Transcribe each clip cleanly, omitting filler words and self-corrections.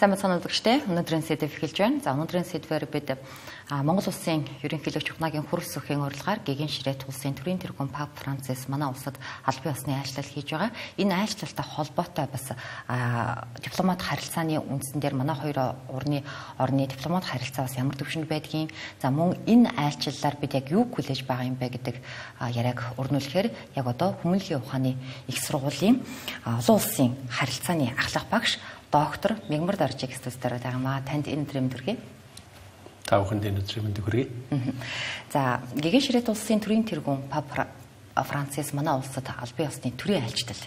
Сайн бацхан үзэгчдээ өнөөдрийн сэдв эхэлж байна. За өнөөдрийн сэдвээр бид Монгол улсын ерөнхийлөгч Ухнагийн хүрс өхийн урилгаар гэгэн ширээт улсын төрийн тэргуун Пап Францис манай улсад албан ёсны айлчлал хийж байгаа. Энэ айлчлалтай холбоотой бас дипломат харилцааны үндсэн дээр манай хоёр орны дипломат харилцаа бас ямар төвшөнд байдгийг, за мөн энэ айлчлалаар бид яг юу хүлээж байгаа юм бэ гэдэг яриаг өрнүүлэхээр яг одоо Хүмүүнлэгийн ухааны их сургуулийн олон улсын харилцааны ахлах багш доктор Мегмар Даржиг студиудаар байгамаа. Танд энэ өдрийн мэнд хүргэе. Та бүхэнд энэ өдрийн мэнд хүргэе. За, гэгэн ширээт улсын төрийн тэргуун Пап Францис манай улсад албан ёсны төрийн айлчлал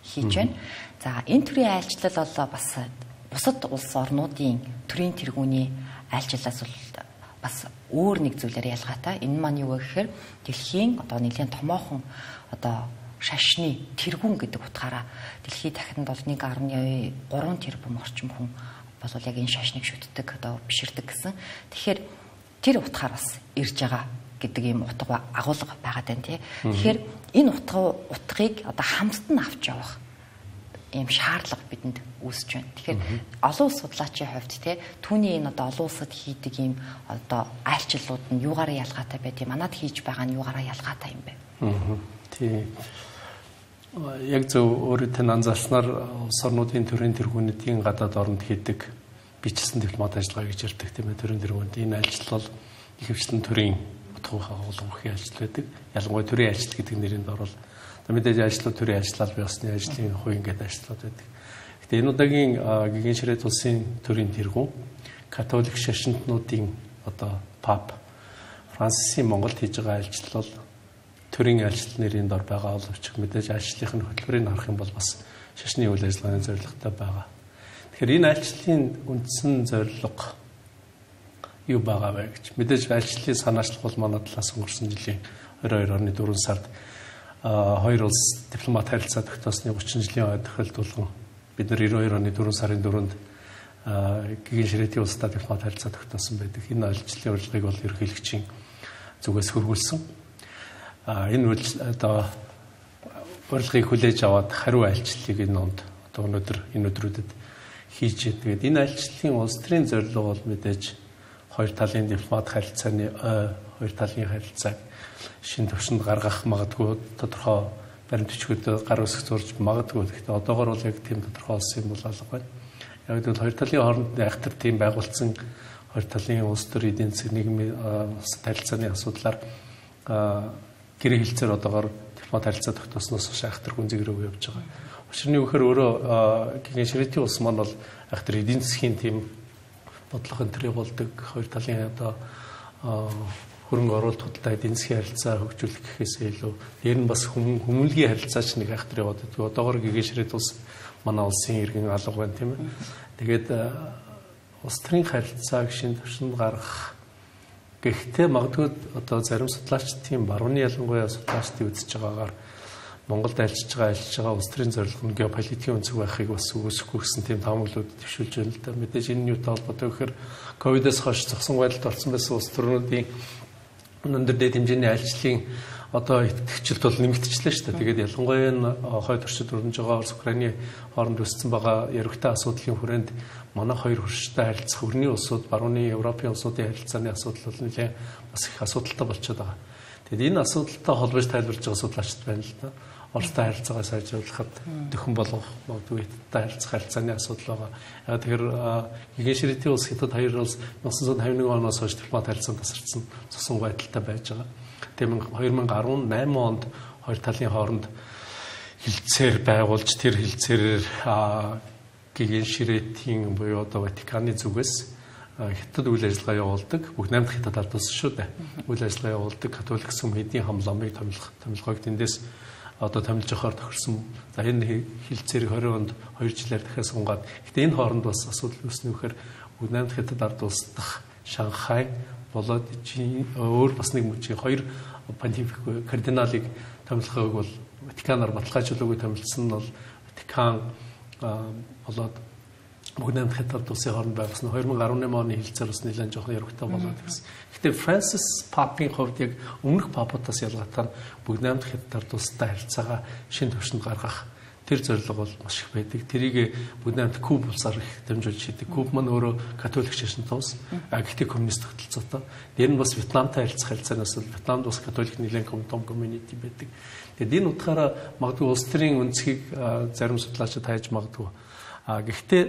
хийж байна. За, энэ төрийн айлчлал бол бас бусад улс орнуудын төрийн тэргүүний айлчлалаас бас өөр нэг зүйлээр ялгаатай. Энэ маань юу вэ гэхээр дэлхийн одоо нэлийн томоохон одоо шашны тэргүүн гэдэг утгаараа дэлхийд дахинд бол 1.3 тэрбум орчим хүн бол яг энэ шашныг шүтдэг одоо биширдэг гэсэн. Тэгэхээр тэр утгаар бас ирж байгаа гэдэг ийм утга агуулга байгаад байна тий. Тэгэхээр энэ утгыг одоо хамтд нь авч явах ийм шаардлага бидэнд үүсэж байна. Тэгэхээр олон улс судлаачийн хувьд тий түүний энэ одоо олон улсад хийдэг ийм одоо айлчлалууд нь юугаараа ялгаатай байдгийг манад хийж байгаа нь юугаараа ялгаатай юм бэ? Тий. Яг зөв өөрөөр тань анзаарснаар улс орнуудын төрийн тэргүүнүүдийн гадаад оронд хийдэг бичсэн дипломат ажиллагаа гэж ярьдаг тийм ээ. Төрийн тэргүүнд энэ айлчлал бол ихэвчлэн төрийн утгын агуулгын ажил байдаг. Ялангуяа төрийн ажил гэдэг нэрийн дор бол мэдээж ажлууд төрийн ажил албан ёсны ажлын хувь ингээд ажлууд байдаг. Гэтэ энэ удаагийн гэгэн ширээт улсын төрийн тэргүүн католик шашинтнуудын одоо Пап Францисийн Монголд хийж байгаа айлчлал бол төрийн айлчлал нэрийн дор байгаа боловч мэдээж айлчлалын хөтөлбөрийг харах юм бол бас шашны үйл ажиллагааны зорилготой байгаа. Тэгэхээр энэ айлчлалын үндсэн зорилго юу байгаа вэ гэж мэдээж айлчлалын санаачлал бол манай талаас өнгөрсөн жилийн 22 оны 4 сард хоёр улс дипломат харилцаа тогтоосны 30 жилийн тохиолдуулан бид нар 92 оны 4 сарын 4-нд гэгэн ширээтийн улстай дипломат харилцаа тогтоосон байдаг. Энэ айлчлалын урилгыг бол ерөнхийлөгчийн зүгээс хөрвүүлсэн. Энэ одоо урилгыг хүлээж аваад хариу айлчлалыг энэ онд одоо өнөөдөр энэ өдрүүдэд хийж байна. Тэгээд энэ айлчлалын улс төрийн зорилго бол мэдээж хоёр талын дипломат харилцааны хоёр талын харилцааг шин төвшөнд гаргах магадгүй тодорхой баримт бичгүүд гар үсэг зурж магадгүй. Гэхдээ одоогор бол яг тийм тодорхой болсон юм бол алга байна. Яг гэвэл хоёр талын хооронд айхтар тийм байгуулсан хоёр талын улс төр эдийн засаг нийгмийн харилцааны асуудлаар гэрээ хэлцээр одоогоор дипломат харилцаа тогтоосноос хойш айхтар гүнзгийрөө явж байгаа. Учир нь юу гэхээр өөрөө гэгэн ширээтийн улс маань бол айхтар эдийн засгийн тийм бодлогын төрөй болдог хоёр талын одоо хөрөнгө оруулалт худалдаа эдийн засгийн харилцаа хөгжүүлэх гэхээсээ илүү ер нь бас хүмүүнлэгийн харилцаач нэг айхтар яваад байдаг. Одоогоор гэгэн ширээт улс манай улсын иргэн алга байна тийм ээ. Тэгээд улс төрийн харилцааг шин төвшөнд гаргах. Гэхдээ магадгүй одоо зарим судлаачдын барууны ялангуяа судлаачдын үзэж байгаагаар Монголд айлчж байгаа улс төрийн зорилго нь геополитикийн өнцөг байхыг бас үүсэхгүй гэсэн тийм таамаглалууд төвшүүлж байна л да. Мэдээж энэ юутай холбоотой гэхээр ковидоос хойш зогсон байдалд орсон байсан улс төрнүүдийн өндөр дэд хэмжээний айлчлалын одоо итгэгчлэлт бол нэмэгдчихлээ шүү дээ. Тэгээд ялангуяа энэ хойд орчид өрнөж байгаа улс Украины хооронд үүссэн байгаа яригтай асуудлын хүрээнд манай хоёр хурцтай харилцах өрний улсууд, барууны Европын улсуудын харилцааны асуудал бол нэлээд бас их асуудалтай болчиход байгаа. Тэгээд энэ асуудалтай холбож тайлбарж байгаа судлаачид байна л да. Оростой харилцаагаа сайжруулахад дөхөн болгох магадгүй харилцах харилцааны асуудал байгаа. Яг тэгэхээр гэгэн ширээтийн улс хятад хоёр улс 1951 оноос хойш дипломат харилцаанд тасарсан цусан байдалтай байж байгаа. Тэгээд 2018 онд хоёр талын хооронд хилцээр байгуулж тэр хилцээрээр гэгэн ширээтийн буюу одоо Ватиканы зүгээс хятад үйл ажиллагаа явуулдаг. Бүх 8 дахь хятад албан ёс шүү дээ. Үйл ажиллагаа явуулдаг католик сүм хэдийн хамламыг томилгоог тэндээс одоо томилж явахаар тохирсон. За энэ хилцээрийг 20 онд 2 жилээр дахиад сунгаад. Гэтэ энэ хооронд бас асуудал үүснэ гэхээр бүх 8 дахь хятад ард улс дахь Шанхай болоод өөр бас нэг мужийн хоёр понтифик кардиналыг томилхойг бол Ватиканаар баталгаажуулаагүй томилсон нь бол Ватикан болоод бүх 8 дахь хятад улсын хооронд байгуулсан 2018 оны хилцээр бас нэлээд жоохон яригтай болоод гэсэн. Гэтэ Францис Папын хувьд яг өмнөх папуудаас ялгаатай бүх 8 дахь хятад улстай харилцаагаа шин төвшөнд гаргах Тэр зорилго бол маш их байдаг. Тэрийг бүгд хамт Куб улсаар их дамжуулж шийдэг. Куб маань өөрөө католик шашинтай улс. Гэхдээ коммунист тогтолцоотой. Дээр нь бас Вьетнамтай харилцаанаас Вьетнамд бас католик нэлээд том community байдаг. Тэгээд энэ утгаараа магадгүй улс төрийн үндэсгийг зарим судлаачид хайж магадгүй. Гэхдээ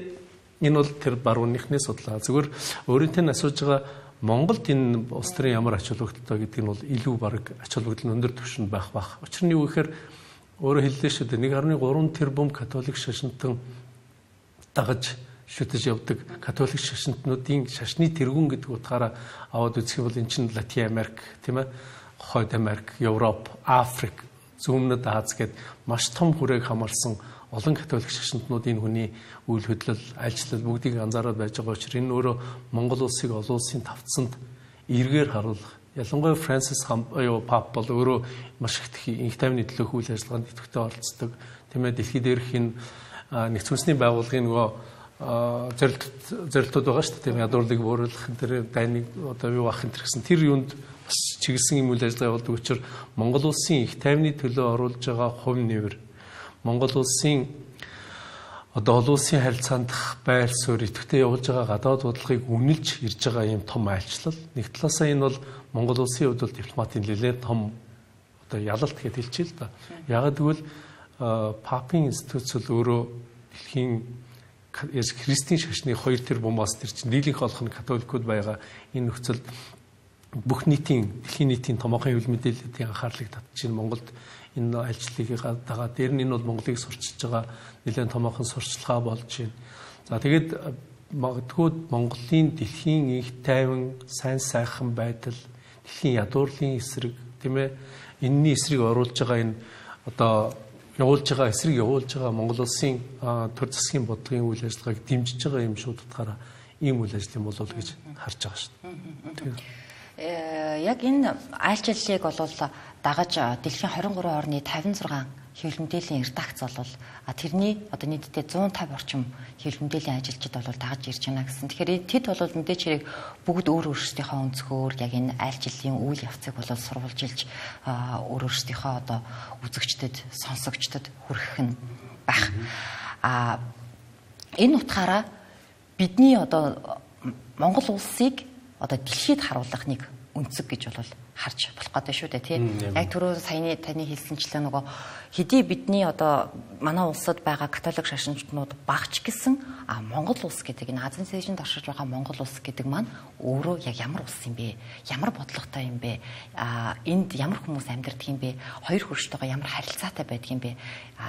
энэ бол тэр барууныхны судалгаа. Зүгээр өөрөнтэй нь асууж байгаа Монголд энэ улс төрийн ямар ач холбогдолтой гэдэг нь бол илүү баг ач холбогдол өндөр түвшинд байх. Учир нь юу гэхээр өөрөөр хэллээ шүү дээ 1.3 тэрбум католик шашинтан дагаж шүтэж явдаг католик шашинтнуудын шашны тэргүүн гэдэг утгаараа аваад үзэх юм бол эн чинь Латин Америк, тийм ээ, Хойд Америк, Европ, Африк, Зүүннэд Аз гэд маш том хүрээг хамарсан олон католик шашинтнууд энэ хүний үйл хөдлөл, айлчлал бүгдийг анзаараад байж байгаа учраас энэ өөрөө Монгол улсыг олон улсын тавцанд эргээр харуулах. Ялангуяа Францис Пап бол өөрөө маш их тайвны төлөөх үйл ажиллагаанд идэвхтэй оролцдог. Тийм ээ, дэлхийд дээрх энэ нэгдсэн үндэсний байгууллагын нөгөө зорилтууд байгаа шүү дээ. Тийм ядуурлыг бууруулах тэр дайныг одоо юу авах энэ гэсэн тэр юунд бас чиглэсэн юм үйл ажиллагаа явуулдаг учраас Монгол улсын их тайвны төлөө оруулж байгаа хувь нэмэр Монгол улсын одоо олон улсын харилцаанд байр суурь идэвхтэй явуулж байгаа гадаад бодлогыг үнэлж ирж байгаа юм том айлчлал. Нэг талаасаа энэ бол Монгол улсын хувьд бол дипломатын нэлээд том одоо ялалт гэж хэлчихэ л да. Яг гэвэл Папын институт өөрөө дэлхийн христийн шашны 2 тэрбумаас тэр чинь дийлэнх олох нь католикууд байгаа. Энэ нөхцөлд бүх нийтийн дэлхийн нийтийн томоохон хэвлэл мэдээллийн анхаарлыг татж ин Монголд энэ айлчлалыг дагаа дээр нь энэ бол Монголыг сурчиж байгаа нэлээд томоохон сурчлагаа болж байна. За тэгээд магадгүй Монголын дэлхийн их тайван сайн сайхан байдал дэлхийн ядуурлын эсрэг тийм ээ энэний эсрэг оруулж байгаа энэ одоо явуулж байгаа Монгол улсын төр засгийн бодлогын үйл ажиллагааг дэмжиж байгаа юм шууд утгаараа ийм үйл ажлын болов гэж харж байгаа шүү дээ. Яг энэ айлчлалыг бол дагаж дэлхийн 23 орны 56 хэвлэл мэдээллийн редакц бол тэрний одоо нийтдээ 150 орчим хэвлэл мэдээллийн ажилчид бол дагаж ирж байна гэсэн. Тэгэхээр тэд бол мэдээж хэрэг бүгд өөрсдийнхөө өнцгөр яг энэ айлчлалын үйл явцыг бол сурвалжилж өөрсдийнхөө одоо үзэгчдэд, сонсогчдод хүргэх нь байх. Энэ утгаараа бидний одоо Монгол улсыг одоо дэлхийд харуулах нэг өнцөг гэж бол харж болох гэдэг шүү дээ тийм. Яг түрүү саяны таны хэлсэнчлээ нөгөө хэдий бидний одоо манай улсад байгаа католик шашинчнууд багч гэсэн Монгол улс гэдэг энэ Азийн цэежинд оршиж байгаа Монгол улс гэдэг маань өөрөө яг ямар улс юм бэ? Ямар бодлоготой юм бэ? Энд ямар хүмүүс амьдардаг юм бэ? Хоёр хөрштөйгөө ямар харилцаатай байдаг юм бэ?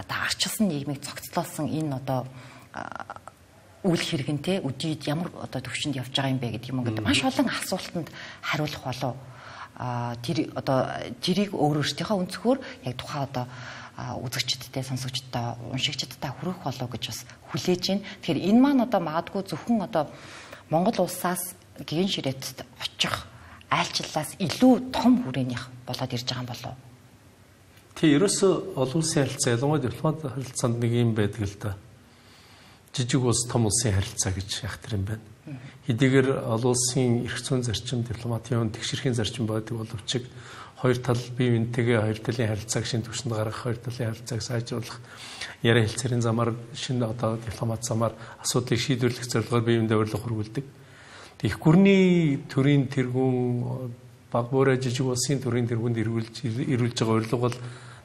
Арчилсан нийгмийг цогцлоосон энэ одоо үйл хэрэгэнтэй үдийд ямар одоо төвшөнд явж байгаа юм бэ гэдэг юм ингээд маш олон асуултанд хариулах болов. Тэр одоо тэрийг өөрөөсдийнхөө өнцгөр яг тухайн одоо үзэгчдтэй, сонсогчдтой, уншигчдтай хүргэх болов гэж бас хүлээж байна. Тэгэхээр энэ маань одоо магадгүй зөвхөн одоо Монгол улсаас гэгэн ширээтэд очих айлчлалаас илүү том хүрээнийх болоод ирж байгаа юм болов. Тий, ерөөсөө олон улсын харилцаа, ялангуяа дипломат харилцаанд нэг юм байдаг л да. Жижиг улс том улсын харилцаа гэж ягтар юм байна. Хэдийгээр олон улсын эрх зүйн зарчим, дипломатын тэгшэрхийн зарчим байдаг боловч хоёр тал бие биентэйгээ хоёр талын харилцааг шинэ түвшинд гаргах, хоёр талын харилцааг сайжруулах, яриа хэлцээрийн замаар шинэ одоо дипломат замаар асуудлыг шийдвэрлэх зорилгоор бие биендээ урилга хүргүүлдэг. Их гүрний төрийн тэргүүн баг буурай жижиг улсын төрийн тэргүүнд ирүүлж байгаа урилга бол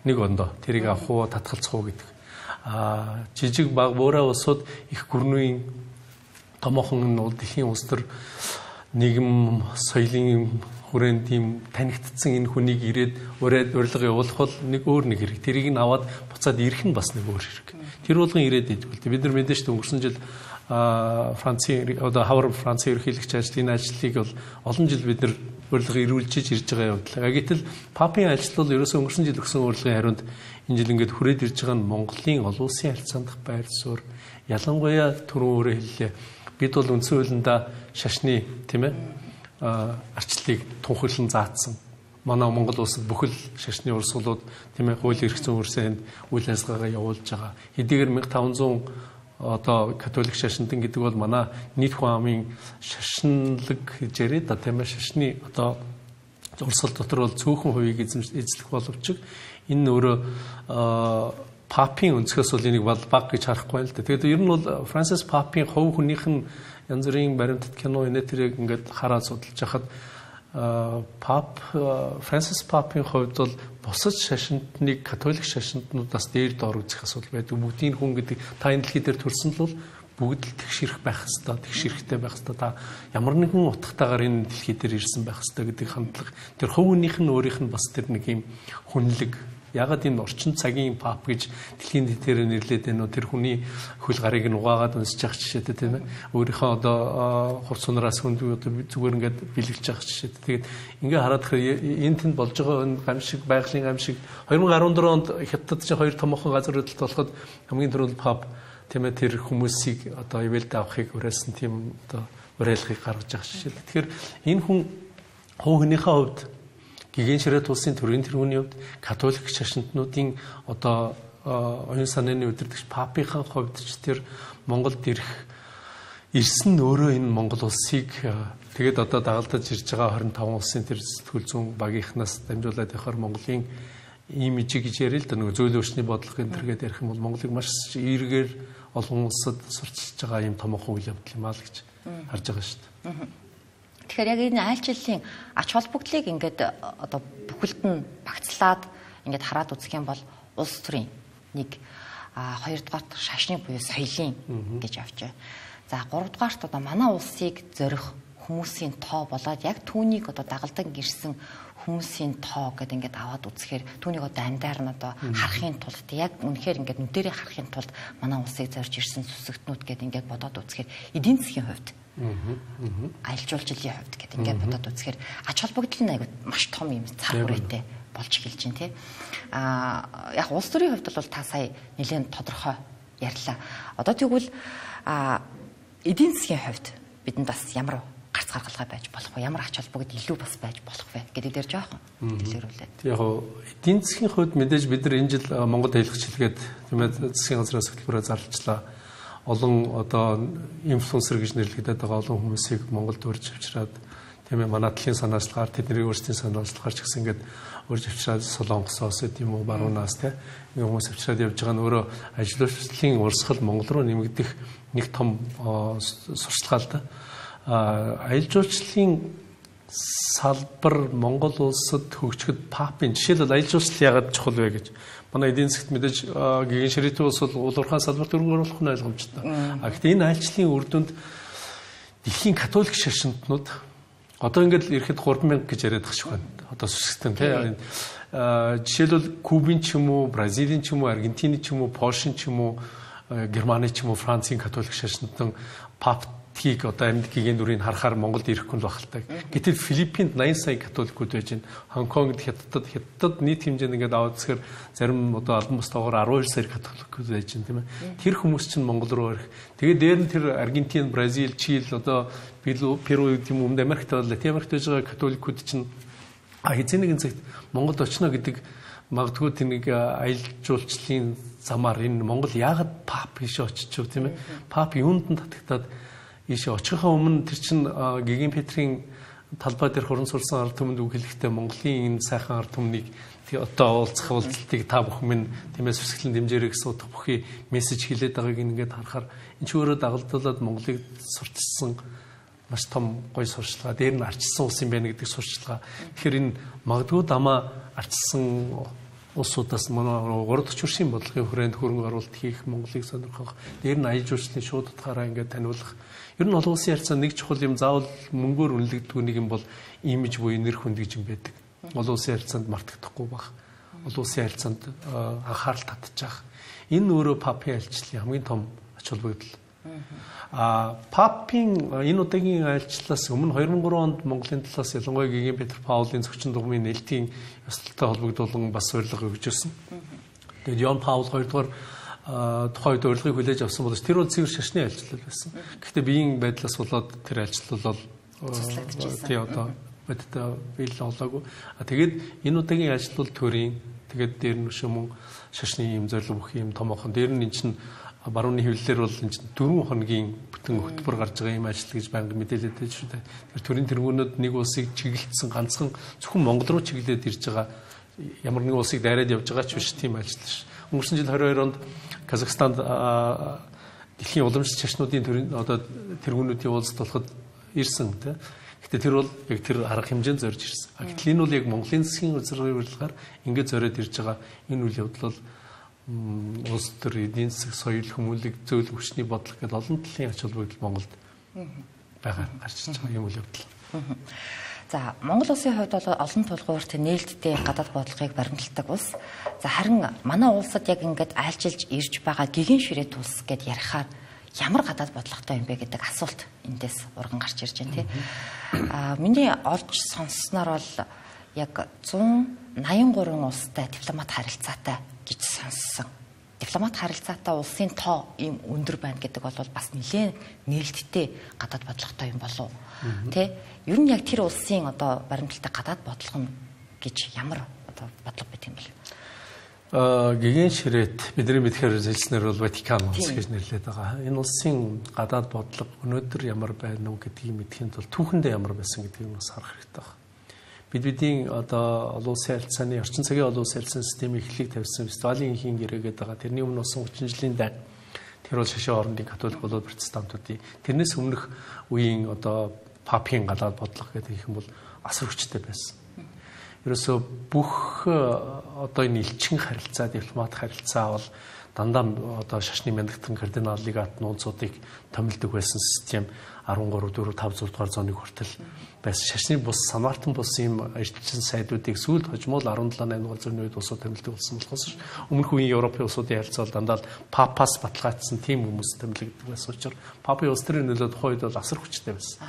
нэг ондоо. Тэрийг авах уу, татгалзах уу гэдэг. Жижиг баг буурай улсууд их гүрний томоохон дэлхийн улс төр нийгэм соёлын хүрээнд тийм танигдсан энэ хүнийг ирээд урилга явуулах бол нэг өөр нэг хэрэг. Тэрийг нь аваад буцаад ирэх нь бас нэг өөр хэрэг. Тэр болгон ирээд идвэл бид нар мэдээж шүү өнгөрсөн жил Францын одоо хавар Францын ерөнхийлөгч ажлын ажлыг бол олон жил бид нар урилга ирүүлж ирж байгаа явдал. Гэтэл Папын ажил бол ерөөсөө өнгөрсөн жил өгсөн урилгын хариунд энэ жил ингээд хүрээд ирж байгаа нь Монголын олон улсын харилцаанд байр суурь ялангуяа түрүүн өөрөө хэллээ. Бид бол үндсэн хуулиндаа шашны тийм ээ арчлалыг тунхаглан заасан. Манай Монгол улсад бүхэл шашны урсгалууд тийм ээ хуулийн эрх зүйн үрсэнд үйл ажиллагаагаа явуулж байгаа. Хэдийгээр 1500 одоо католик шашинтан гэдэг бол манай нийт хүн амын шашинлаг гэж яриад та тийм ээ шашны одоо урсгал дотор бол цөөхөн хувийг эзлэх боловч энэ өөрөө Папын өнцгөөс бол энийг баг гэж харахгүй л да. Тэгээд ер нь бол Франсис Папын хувь хүнийх нь янз бүрийн баримтат кино энэтрийг ингээд хараад судалж хахад Франсис Папын хувьд бол бусад шашинтныг католик шашинтнуудаас дээр доор үзэх асуудал байдаг. Бүгдийн хүн гэдэг та энэ дэлхий дээр төрсөн л бол бүгд л тэгшэрх байх хэвээр, тэгшэрхтэй байх хэвээр. Та ямар нэгэн утгатаагаар энэ дэлхий дээр ирсэн байх хэвээр гэдэг хандлага. Тэр хувь хүнийх нь өөрийнх нь бас тэр нэг юм хүнлэг. Ягаад энэ орчин цагийн пап гэж дэлхийн дээр нэрлээд байна уу? Тэр хүний хөл гарыг нь угаагаад унсаж явах жишээтэй тийм ээ. Өөрийнхөө одоо хурц сунараас хүнд зүгээр ингээд бэлгэлж явах жишээтэй. Тэгээд ингээ хараад энэ тэнд болж байгаа энэ гамшиг, байгалийн гамшиг 2014 онд хятадд чинь хоёр томоохон газар хөдлөлт болоход хамгийн түрүүнд пап тийм ээ тэр хүмүүсийг одоо ивэлд авахыг уриалсан тийм одоо уриалгыг гаргаж явах жишээ. Тэгэхээр энэ хүн хувь хүнийхээ хувьд Гэгэн ширээ тулсын төрийн тэргүүний хувьд католик шашинтнуудын одоо оюун санааны удирдагч папийнхаа хувьд ч тэр Монголд ирсэн нь өөрөө энэ Монгол улсыг тэгээд одоо дагалдаж ирж байгаа 25 улсын тэр сэтгүүл зүүн багийнхнаас дамжуулаад явахаар Монголын имижийг гэж ярил л да нөгөө зөөлөн өчний бодлого энэ төргээд ярих юм бол Монголыг маш эргээр олон улсад сурчилж байгаа юм томоохон үйл явдал юм аа л гэж харж байгаа шүү дээ. Тэгэхээр яг энэ айлчлалын ач холбогдлыг ингээд одоо бүхэлд нь багцлаад ингээд хараад үзэх юм бол улс төрийн нэг хоёрдугаарт шашны буюу соёлын гэж авч байна. За гуравдугаарт одоо манай улсыг зорих хүмүүсийн тоо болоод яг түүнийг одоо дагалдан гэрсэн хүмүүсийн тоо гэдэг ингээд аваад үзэхээр түүнийг одоо амьдаар нь одоо харахын тулд яг үнэхээр ингээд нүдэрээ харахын тулд манай улсыг зорж ирсэн сүсэгтнүүд гэдэг ингээд бодоод үзэхээр эдийн засгийн хувьд аялал жуулчлалын хувьд гэдэг ингээд бодоод үзэхээр ач холбогдол нь айгүй маш том юм цаг хүрээтэй болж эхэлж байна тий. Яг улс төрийн хувьд бол та сая нэлээд тодорхой ярьлаа. Одоо тэгвэл эдийн засгийн хувьд бидэнд бас ямар гарц гаргалгаа байж болох вэ? Ямар ач холбогдол илүү бас байж болох вэ гэдэг дээр жоохон дэлгэрүүлээд. Яг эдийн засгийн хувьд мэдээж бид нар энэ жил Монгол хэлхчлэгээд тийм ээ засгийн газрын хөтөлбөрөөр зарлажлаа. Олон одоо инфлюенсер гэж нэрлэгдээд байгаа олон хүмүүсийг Монголд урьж авчираад тийм ээ манай талын санаачлагаар тэдний өөрсдийн санаачлагаар ч гэсэн ингээд урьж авчираад Солонгосоос тийм үү баруунаас тийм нэг хүмүүс авчираад явж байгаа нь өөрөө ажилчлалын урсгал Монгол руу нэмэгдэх нэг том сурчлагаа л да. Аялал жуулчлалын салбар Монгол улсад хөгжихэд папын жишээлбэл аялал жуулчлал яагаад чухал вэ гэж манай эдийн засгт мэдээж гэгэн ширээтэй улс бол улуурхай салбарт өргөн оруулах нь ойлгомжтой. Гэхдээ энэ аялчлалын үр дүнд дэлхийн католик шашинтнууд одоо ингээд ирэхэд 3000 гэж яриад байгаа шиг байна. Одоо сүсгтэн тийм жишээлбэл Кубын ч юм уу, Бразилийн ч юм уу, Аргентины ч юм уу, Польшийн ч юм уу, Германы ч юм уу, Францын католик шашинтан паптгийг одоо амьд гэгээн дүрийг харахаар Монголд ирэхгүй л багтал. Гэтэл Филиппинд 80 сая католикууд байж байна. Хонконгд хятадд нийт хэмжээнд ингээд аваад үзэхээр зарим одоо албан бусдаагаар 12 сая католикууд байж байна тийм ээ. Тэр хүмүүс чинь Монгол руу ирэх. Тэгээд дээр нь тэр Аргентин, Бразил, Чили одоо Перу юм өмнө Америкт бол Латин Америкт байж байгаа католикууд чинь хэзээ нэгэн цагт Монголд очно гэдэг магадгүй тэнийг аялал жуулчлалын замаар энэ Монгол яагаад пап ийшээ очиж тийм ээ. Пап юунд нь татагтаад ийшээ очихын өмнө тэр чин Гэгэн Петрийн талбай дээр хуран сурсан ард түмэнд үг хэлэхдээ Монголын энэ сайхан ард түмнийг одоо уулзах уулзалтыг та бүхэн минь тиймээс сүсгэлэн дэмжээрэй гэсэн утга бүхий мессеж хэлээд байгааг ингээд харахаар энэ ч өөрөө дагалдуулаад Монголыг сурчилсан маш том гоё сурчлага. Дээр нь арчилсан улс юм байна гэдэг сурчлага. Тэгэхээр энэ магадгүй дамаа арчилсан улсуудаас манай 3 дахь төршийн бодлогын хүрээнд хөрөнгө оруулалт хийх, Монголыг сонирхох, дээр нь аялал жуулчлалын шууд утгаараа ингээд таниулах. Ер нь олон улсын харьцаанд нэг чухал юм заавал мөнгөөр үнэлэгдэх нэг юм бол имиж буюу нэр хүнд гэж юм байдаг. Олон улсын харьцаанд мартагдахгүй байх. Олон улсын харьцаанд анхаарал татчих. Энэ өөрөө папын айлчлалын хамгийн том ач холбогдол. Папын энэ удаагийн айлчлалаас өмнө 2003 онд Монголын талаас ялангуяа Гэгэн Петр Паулийн зочин дугмын нээлтийн ёслолтой холбогдуулан бас урилга өгч ирсэн. Тэгээд Йон Паул 2 дугаар тухайн үед урилгыг хүлээж авсан бол тэр бол цэвэр шашны айлчлал байсан. Гэхдээ биеийн байдлаас болоод тэр айлчлал бол тий одоо бодтой биел олоогүй. Тэгээд энэ удаагийн айлчлал төрийн тэгээд дээр нь шөмөн шашны юм зорилго бүх юм томоохон дээр нь эн чинь барууны хөвлөлөөр бол энэ 4 хоногийн бүтэн хөтөлбөр гарч байгаа юм ажил гэж банк мэдээлээд байж шүү дээ. Тэр төрийн тэргүүнүүд нэг улсыг чиглэлцсэн ганцхан зөвхөн Монгол руу чиглээд ирж байгаа ямар нэгэн улсыг дайраад явж байгаа ч биш тийм ажил ш. өнгөрсөн жил 22 онд Казахстанд дэлхийн уламжлалт шашнуудын тэргүүнүүдийн уулзалт болоход ирсэн тийм. Гэтэ тэр бол яг тэр арга хэмжээнд зорж ирсэн. Гэтэл энэ бол яг Монголын засгийн удирдлагаар ингээд зориод ирж байгаа энэ үйл явдал бол улс төр эдийн засаг, соёл, хүмүүнлэг, зөвлөх хүчний бодлого гэдэг олон талын ач холбогдол Монголд байгаа гарч ирж байгаа юм үйл явдал. За Монгол улсын хувьд бол олон тулгуурт нээлттэй гадаад бодлогыг баримталдаг улс. За харин манай улсад яг ингээд айлчилж ирж байгаа гигэн ширээ тус гэд ярихаар ямар гадаад бодлоготой юм бэ гэдэг асуулт эндээс урган гарч ирж байна тийм. Миний олж сонссноор бол яг 183 улстай дипломат харилцаатай гэж сонссон. Дипломат харилцаатай улсын тоо ийм өндөр байна гэдэг бол бас нэлээд нээлттэй гадаад бодлоготой юм болов уу? Тэ? Ер нь яг тэр улсын одоо баримталтай гадаад бодлого нь гэж ямар одоо бодлого байт юм бэ? Гигэн ширээт бидний мэдхээр хэлснээр бол Ватикан улс гэж нэрлэдэг байгаа. Энэ улсын гадаад бодлого өнөөдөр ямар байна уу гэдгийг мэдхийн тулд түүхэндээ ямар байсан гэдгийг бас харах хэрэгтэй байна. Бидний одоо олон улсын харилцааны орчин цагийн олон улсын харилцааны системийг эхлэх тавьсан фестивалийн инхийн гэрээгээд байгаа. Тэрний өмнө болсон 30 жилийн дай тэр бол шашин орондын католик болоод протестантуудын тэрнээс өмнөх үеийн одоо папийн гадаад бодлого гэдэг их юм бол асар хүчтэй байсан. Ерөөсөө бүх одоо энэ элчин харилцаа, дипломат харилцаа бол дандаа одоо шашны мяндагтан кардинал легат нунцуудыг томилдог байсан систем 13, 4, 5 дугаар зууны хүртэл байсан. Шашны бус, Самартан бус ийм эрчим сайдуудыг сүүлд хожмол 17, 8 дугаар зууны үед улсууд томилдог болсон болохоос өмнөх үеийн Европын улсуудын харилцаа бол дандаа папаас баталгаажсан тийм хүмүүс томилдог байсан учраас папын улс төрийн нөлөө тухайн үед бол асар хүчтэй байсан.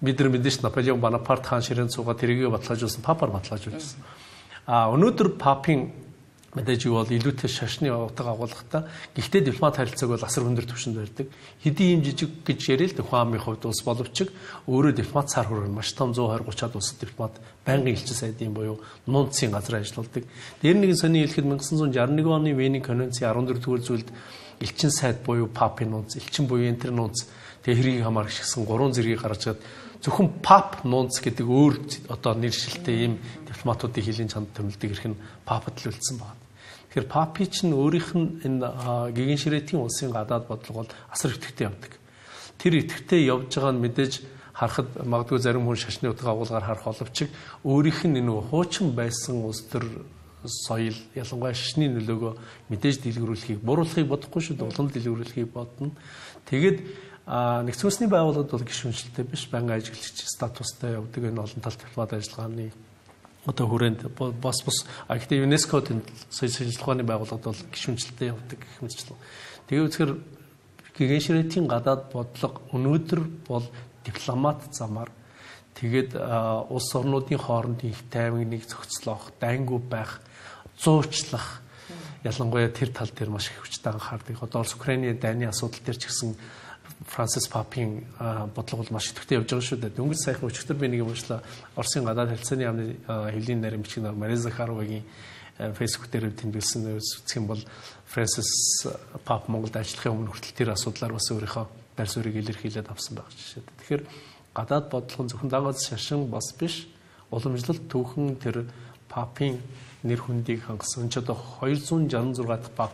Бид нар мэдээж Наполеон Бонапарт хаан ширээн цугаа тэрийгэ баталгаажуулсан, папаар баталгаажуулсан. Өнөөдөр папын мэдээж юу бол илүүтэй шашны утга агуулгатай. Гэхдээ дипломат харилцааг бол асар өндөр түвшинд барьдаг. Хэдийн юм жижиг гэж ярил л Хуамын хувьд улс боловч өөрөө дипломат цаар хүрэн маш том 120-30-аад улсад дипломат байнгын элчин сайдын буюу нунцын газар ажилладаг. Дээр нэгэн сони хэлэхэд 1961 оны Вений конвенцийн 14-р зүйлд элчин сайд буюу папын нунц, элчин буюу энтер нунц тэгээ хэргийг хамаарчсан 3 зэргийг гаргаж зөвхөн пап нунц гэдэг өөр одоо нэршилтэй ийм дипломатуудын хилийн чанд томилдог ирэх нь папад л үлдсэн байна. Тэгэхээр папи чинь өөрийнх нь энэ гигэн ширээтийн улсын гадаад бодлого бол асар идэвхтэй явдаг. Тэр идэвхтэй явж байгаа нь мэдээж харахад магадгүй зарим хүн шашны утга агуулгаар харах боловч өөрийнх нь энэ хуучин байсан улс төр соёл ялангуяа шашны нөлөөгөө мэдээж дэлгэрүүлэхийг буруулахыг бодохгүй шүү дээ. Улам дэлгэрүүлэхийг бодно. Тэгээд нэгдсэн үндэсний байгууллагад бол гишүүнчлэлтэй биш, байнгын ажиглагч статустай явдаг энэ олон талт дипломат ажиллагааны одоо хүрээнд бас гэхдээ ЮНЕСКО-д соёлын ажиллагааны байгууллагад бол гишүүнчлэлтэй явдаг гэх мэтчлэн. Тэгээ үзэхээр гигэн ширээтийн гадаад бодлого өнөөдөр бол дипломат замаар тэгээд улс орнуудын хоорондын их тайвныг зохицлох, дайнгүй байх, зуучлах ялангуяа тэр тал дээр маш их хүчтэй анхаардаг. Одоо Украиний дайны асуудал дээр ч гэсэн Францис папийн бодлого бол маш идэвхтэй явж байгаа шүү дээ. Дөнгөж сайхан өчигдөр би нэг юм уншлаа. Оросын гадаад харилцааны яамны хэвлийн нарийн бичиг Мария Захаровагийн фэйсбүүк дээр тэмдэглэсэн үзэх юм бол Францис пап Монголд ажиллахын өмнө хүртэл тэр асуудлаар бас өөрийнхөө байр суурийг илэрхийлээд авсан байх жишээ. Тэгэхээр гадаад бодлого нь зөвхөн дагаж шашин бас биш. Уламжлалт түүхэн тэр папийн нэр хүндийг хангасан ч одоо 266 дахь пап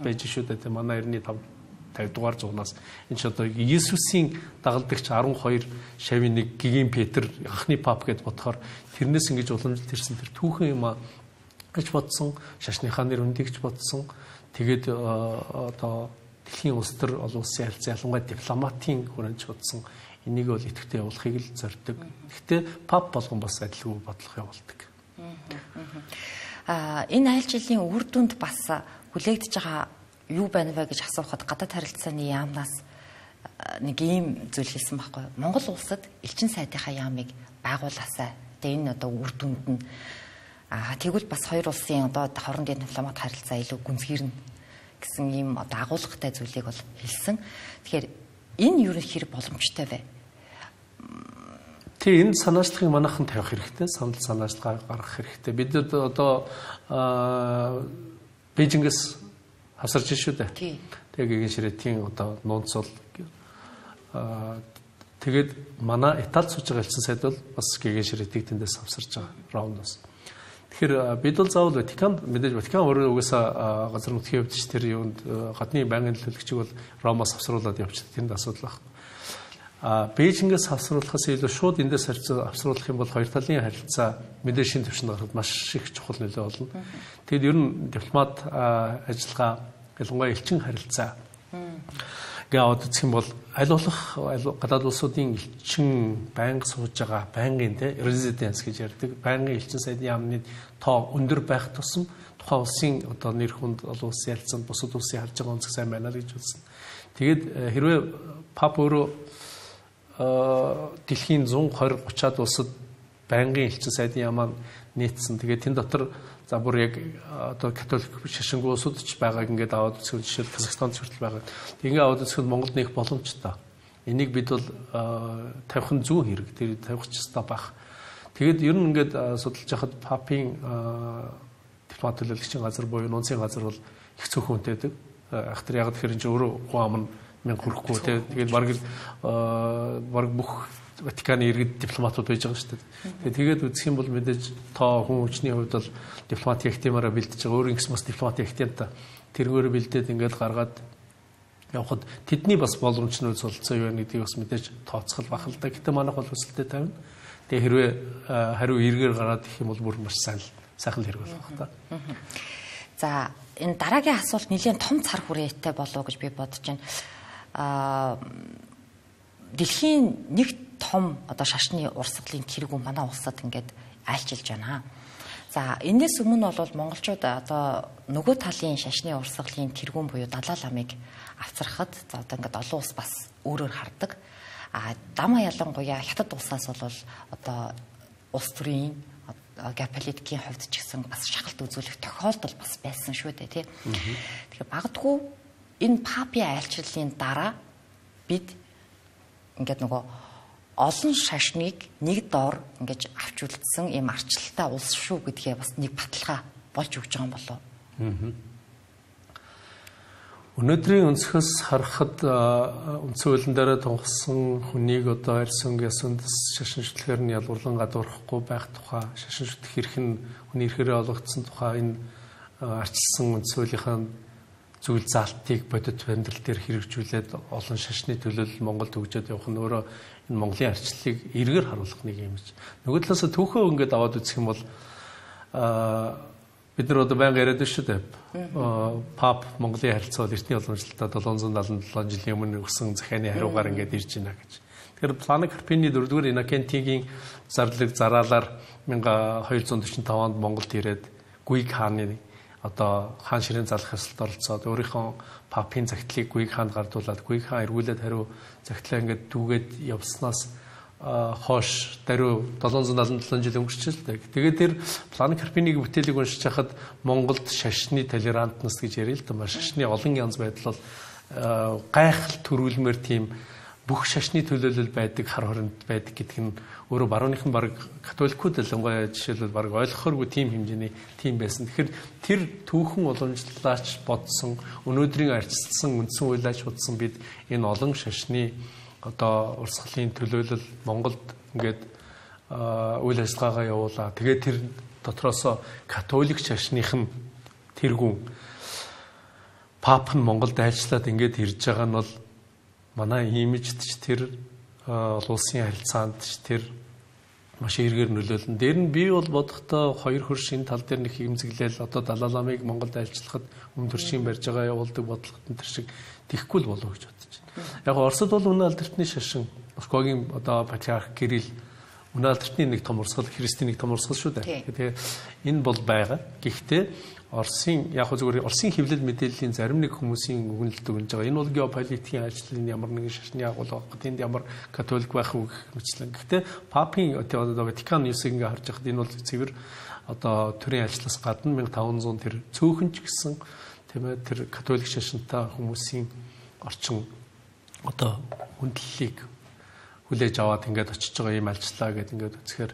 байж шүү дээ. Манай 50 дугаар зуунаас энэ ч одоо Иесусийн дагалдагч 12 шавийн нэг Гигэн Петр анхны пап гэд бодохоор тэрнээс ингэж уламжлалт ирсэн тэр түүхэн юм гэж бодсон, шашныхаа нэр хүндийг ч бодсон. Тэгээд одоо дэлхийн улс төр олон улсын харилцаа ялангуяа дипломатын хүрээнд бодсон. Энийг бол идэвхтэй явуулахыг л зорддог. Гэхдээ пап болгон бас адилгүй бодлого явуулдаг. Энэ айл жилийн үр дүнд бас хүлээгдэж байгаа юу байна вэ гэж асуухад гадаад харилцааны яамнаас нэг ийм зүйл хэлсэн байхгүй юу? Монгол улсад элчин сайдынхаа яамыг байгуулаасай. Тэгээ энэ одоо үр дүнд нь тэгвэл бас хоёр улсын одоо хоорондын дипломат харилцаа илүү гүнзгийрнэ гэсэн ийм одоо агуулгатай зүйлийг бол хэлсэн. Тэгэхээр энэ юу хэрэг боломжтой вэ? Тэгээ энэ санаачлагыг манайхан тавих хэрэгтэй, санал санаачлагаа гаргах хэрэгтэй. Бид одоо Бээжингээс хавсарч шүү дээ. Тэгээ гигэн ширээтийн одоо нунцол тэгээд манай Италид сууж байгаа элчин сайд бол бас гигэн ширээтийг тэндээс хавсарч байгаа Ромноос. Тэгэхээр бид бол заавал Ватикан өөрөө угаасаа газар нутгийн хувьд ч тэр юунд гадны байнгын төлөөлөгчийг бол Ромоос авсруулад явчихдаг. Тэнд асуудал байна. Бээжингээс авсруулахаас илүү шууд эндээс авсруулах юм бол хоёр талын харилцаа мэдээ шин төвшөнд гарахад маш их чухал нөлөө болно. Тэгэд ер нь дипломат ажиллагаа ялангуяа элчин харилцаа гаад үзэх юм бол аль болох гадаад улсуудын элчин байнга сууж байгаа байнгын резиденс гэж ярьдаг. Байнгын элчин сайдын яамны тоо өндөр байх тусам тухайн улсын одоо нэр хүнд олон улсын харилцаанд бусад улсын харж байгаа онцгой сайн байна л гэж үзсэн. Тэгээд хэрвээ Пап өөрөө дэлхийн 120 30-аад улсад байнгын элчин сайдын яамаа нийцсэн. Тэгээд тэн дотор за бүр яг одоо католик шашингүй улсууд ч байгааг ингээд аваад үзэх жишээл Казахстанд хүртэл байгаа. Ингээ аваад үзэхэд Монголд нэг боломжтой. Энийг бид бол тавих нь зүүн хэрэг. Тэр тавих ч ёстой байх. Тэгэд ер нь ингээд судалж яхад Папын дипломат төлөөлөгчийн газар буюу нунцын газар бол их цөөхөн үнэтэйдэг. Ахтар яг тэгэхээр энэ өөрөө гоо ам мэн хүрэхгүй тэгээд баг бүх Ватиканы иргэд дипломатууд байж байгаа шүү дээ. Тэгээд үзэх юм бол мэдээж тоо хүн хүчний хувьд бол дипломатийн актемаараа бэлдэж байгаа. Өөрийн гэсэн бас дипломатийн актемта тэргөөр бэлдээд ингээд гаргаад явхад тэдний бас боломжнууд солилцоо юу нэгдгийг бас мэдээж тооцол бах л да. Гэтэ манайх бол өсөлтөд тавина. Тэгээ хэрвээ хариу эргээр гараад их юм бол бүр маш сайхан хэрэг болох та. За энэ дараагийн асуулт нэлээд том цар хүрээтэй болов гэж би бодож байна. Дэлхийн нэг том одоо шашны урсгалын тэргүүн манай улсад ингээд айлчилж байна. За энэс өмнө бол монголчууд одоо нөгөө талын шашны урсгалын тэргүүн буюу Далай ламыг авцрахад за одоо ингээд олон улс бас өөрөөр хардаг. Дамаа ялангуяа хятад улсаас бол одоо улс төрийн геополитикийн хувьд ч гэсэн бас шахалт үзүүлэх тохиолдол бас байсан шүү дээ тий. Тэгэхээр магадгүй энэ Папийн айлчлалын дараа бид ингээд нөгөө олон шашныг нэг доор ингэж авч үлдсэн ийм арчлалтай улс шүү гэдгээ бас нэг баталгаа болж өгч байгаа юм болов. Өнөөдрийн өнцгөөс харахад үндсэн хуулийн дараа тунхсан хүнийг одоо арьс өнгө ясандас шашин шүтлэгээр нь ялгуурлан гадуурхахгүй байх тухай шашин шүтлэх эрх нь хүний эрхээрээ олгогдсон тухай энэ арчилсан үндсэн хуулийнхаа зүйл заалтыг бодит амьдрал дээр хэрэгжүүлээд олон шашны төлөөлөл Монголд өгчөөд явах нь өөрөө энэ Монголын арчлалыг эргээр харуулах нэг юм гэж. Нөгөө талаас түүхөө ингээд аваад үзэх юм бол бид нар одоо байнга яриад шүү дээ. Пап Монголын харилцаа эртний уламжлалтаа 777 жилийн өмнө өгсөн захианы хариугаар ингээд ирж байна гэж. Тэгэхээр Плано Карпини 4-р Иннокентигийн зарлаг зараалаар 1245 онд Монголд ирээд Гүйг хааны одоо хаан ширээн залах ёслолд оролцоод өөрийнхөө Папын загтлыг Гүйг хаанд гардуулаад Гүйг хаан эргүүлээд хариу загтлаа ингээд дүүгээд явснаас хойш даруй 777 жил өнгөрчихлээ л дээ. Тэгээд тэр Плано Карпинийг бүтээлийг уншиж хахад Монголд шашны толерантнess гэж ярил л да. Шашны олон янз байдал бол гайхал төрүүлмээр тийм бүх шашны төлөөлөл байдаг, хар хоринд байдаг гэдэг нь өөрөө барууныхан баг католикууд ялангуяа жишээлбэл баг ойлгохоргүй тийм хэмжээний тийм байсан. Тэгэхээр тэр түүхэн уламжлалаач бодсон, өнөөдрийн арчилсан үндсэн хуйлаач бодсон бид энэ олон шашны одоо урсгалын төлөөлөл Монголд ингээд үйл ажиллагаагаа явуулаа. Тэгээд тэр дотроос католик шашных нь тэргүүн Пап нь Монголд айлчлаад ингээд ирж байгаа нь бол манай имижд ч тэр улсын харилцаанд ч тэр маш эргээр нөлөөлнө. Дээр нь би бол бодохдоо хоёр хөршийн тал дээр нэг хэмзэглээл одоо Далай ламыг Монголд айлчлахад өмнө төршийн барьж байгаа явуулдаг бодлогот тэр шиг тэхгүй л болов гэж бодож байна. Яг Оросд бол үнэ алдархны шашин Москвагийн одоо патриарх Кирилл үнэ алдархны нэг том урсгал, христийн нэг том урсгал шүү дээ. Тэгэхээр энэ бол байгаа. Гэхдээ Оросын яг зүгээр Оросын хэвлэл мэдээллийн зарим нэг хүмүүсийн өгнөлт өгнөж байгаа. Энэ бол геополитикийн ажлын ямар нэгэн шашны агуул байх, тэнд ямар католик байх үг мэтлэн. Гэхдээ Папын одоо Ватикан Ньюсыг ингээ харж байхад энэ бол цэвэр одоо төрийн ажлаас гадна 1500 тэр цөөхөн ч гэсэн тийм ээ тэр католик шашинтай хүмүүсийн орчин одоо хүндлэлийг хүлээж аваад ингээд очиж байгаа юм альчлаа гэдэг ингээд үзэхээр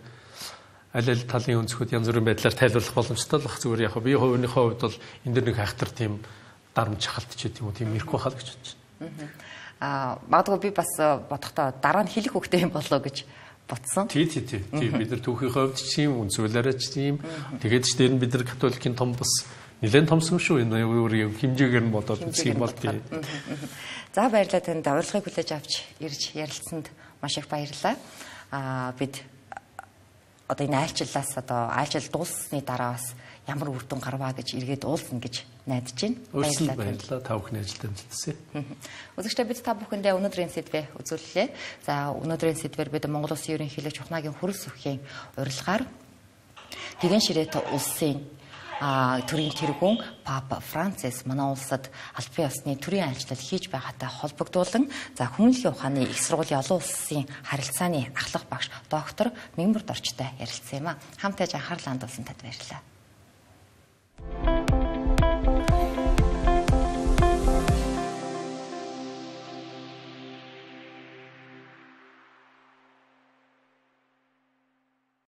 аль талын өнцгүүд янз бүрийн байдлаар тайлбарлах боломжтой л бах зүгээр яг би хувийнхөө хувьд бол энэ дэр нэг хайхтар тийм дарамт шахалт ч гэдэг юм уу тийм ирэх байхаа л гэж бодож байна. Магадгүй би бас бодохдоо дараа нь хэлэх хөвгтэй юм болоо гэж ботсон. Тий. Бид нар түүхийн хувьд ч юм, үнсүүлээрээ ч юм. Тэгээд ч дээр нь бид нар католикийн том бас нэлээд томсон шүү. Энэ өөр хэмжээгээр нь бодоод үзэх юм бол тий. За баярлалаа танд урилгыг хүлээж авч ирж ярилцсанд маш их баярлалаа. Бид одоо энэ айлчил дууссаны дараа бас ямар үр дүн гарваа гэж эргээд уулзна гэж найдаж байна. Баярлалаа. Та бүхний ажилд амжилтсэ. Үзэгчдээ бид та бүхэндээ өнөөдрийн сэдвээ үзүүллээ. За өнөөдрийн сэдвээр бид Монгол Улсын ерөнхийлөгч Ухнагийн хөрс өхийн урилгаар Гэгэн Ширээт улсын төрийн тэргүүн Папа Францис манай улсад албан ёсны төрийн айлчлал хийж байгаатай холбогдуулан Хүмүүнлэгийн ухааны их сургуулийн олон улсын харилцааны ахлах багш доктор Мэнбүрд орчтой ярилцсан юм а. Хамтдаа анхаарлаа хандуулсан танд баярлалаа.